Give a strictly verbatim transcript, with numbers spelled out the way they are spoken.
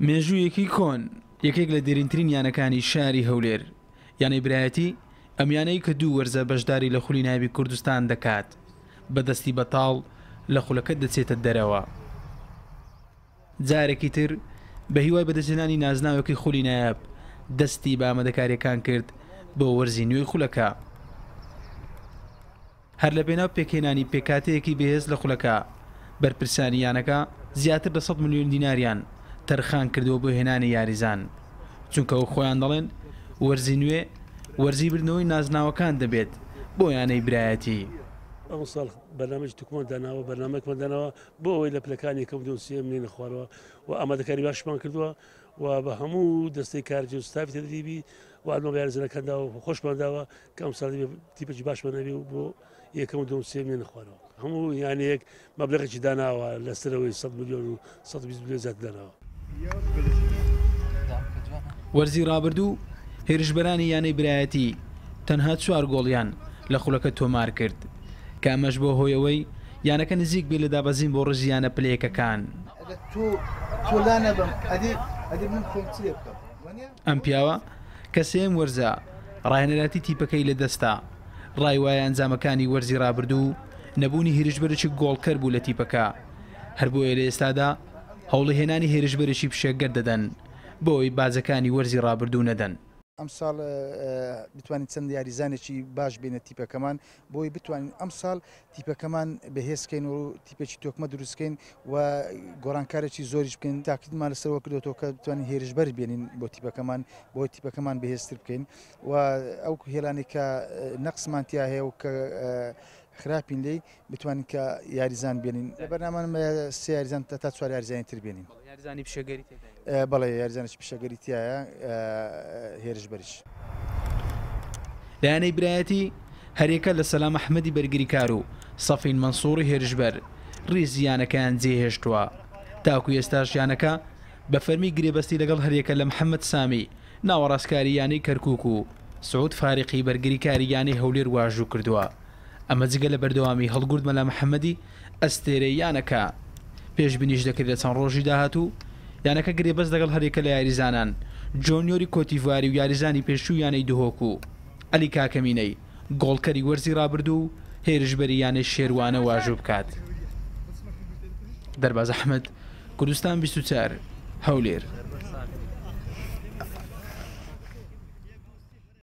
مێژوویەکی کۆن، یەکێک لە دێرینترین یانەکانی شاری هەولێر، یانەی برایەتی، ئەم یانەی کە دوو وەرزە بەشداری لە خولی نایابی کوردستان دەکات، بە دەستی بەتاڵ لە خولەکە دەچێتە دەرەوە. جارێکی تر بە هیوای بەدەستهێنانی نازناوێکی خولی نایاب دەستی بە ئامادەکارییەکان کرد بۆ وەرزی نوێی خولەکە. هەر لە پێناو پێکهێنانی پێکهاتەیەکی بەهێز لە خولەکە، بەرپرسانی یانەکە زیاتر لە سەد ملیۆن دیناریان تەرخان کردووە بۆ هێنانی یاریزان، چونکە وەک خۆیان دەڵێن وەرزی نوێ وەرزی بردنەوەی نازناوەکان دەبێت بۆ یانەی برایەتی. ئەمساڵ بەرنامەی توکمان داناوە، بەرنامەیەکمان داناوە بۆ ئەوەی لە پلەکانی یەکەم دووەم سێیەم نێنە خوارەوە و ئامادەکاری باشمان کردووە و بە هەموو دەستەی کارگێڕی و ستافی تەدریبی و ئەلمە بە یاریزانەکان داوە و خۆشمان داوە کە ئەمساڵ تیپێکی باشمان هەبێ و بۆ یەکەم و دووەم سێیەم نێنە خوارەوە. هەموو یانەیەک مەبلەغێکی داناوە لەسەرەوەی سەد ملیۆن و سەد و بیست ملیۆن زیاتر داناوە. وەرزی رابردوو هێرشبەرانی یانەی برایەتی تەنها چوار گۆڵیان لە خولەکە تۆمار کرد، کە ئەمەش بۆ هۆی ئەوەی یانەکە نزیک بێت لە دابەزین بۆ ڕیزی یانە پلەیەکەکان. ئەم پیاوە کە سێیەم وەرزە ڕاهێنەرایەتی تیپەکەی لەدەستە، ڕای وایە ئەنجامەکانی وەرزی رابردوو نەبوونی هێرشبەرێکی گۆڵکەر بوو لە تیپەکە، هەر بۆیە لە ئێستادا هەوڵی هێنانی هێرشبەرێکی پیشەگەر دەدەن بۆ ئەوەی باجەکانی وەرزی رابردوو نەدەن. ئەمساڵ بتوانین چەند یاریزانێکی باش بێنە تیپەکەمان بۆی بتوانین ئەمساڵ تیپەکەمان بەهێزکەین و تیپێکی تۆکمە دروستکەین و گۆڕانکارێکی زۆریش بکەین. تاکیدمان لەسەرەوە کردوەوە کە بتوانین هێرشبەر بێنین بۆ تیپەکەمان بۆ تیپەکەمان بەهێزتر بکەین و ئەو هێلانەی کە نەقسمان تیا هەیە و کە خراپین لێی بتوانین کە یاریزان بێنین. لە بەرنامەمان سێ یاریزان تا چوار یاریزانی تر بێنین. یاریزانی پیشەگەری تێدایە؟ بەڵێ، یاریزانێکی پیشەگەری تایە، هێرشبەریش. لە یانەی برایەتی هەریەکە لە سەلام ئەحمەدی بەرگریکار و سەفین مەنسوڕی هێرشبەر ریزی یانەکەیان جێهێشتووە، تاکو ئێستاش یانەکە بە فەرمی گرێبەستی لەگەڵ هەریەکە لە محەممەد سامی ناوەڕاستکاری یانەی کەرکوک و سعود فاریقی بەرگریکاری یانەی هەولێر واژوو کردووە. ئەمە جگە لە بەردەوامی هەڵگورد مەلا محەممەدی ئەستێرەی یانەکە. پێشبینیش دەکرێت لە چەند ڕۆژی داهاتوو یانەکە گرێبەست لەگەڵ هەریەکە لە یاریزانان جۆنیۆری کۆتیڤواری و یاریزانی پێشوو یانەی دهۆک و عەلی کاکەمینەی گۆڵکەری وەرزی رابردوو و هێرشبەری یانەی شێروانە واژوو بکات. دەرباز ئەحمەد، کوردستان بیست و چوار، هەولێر.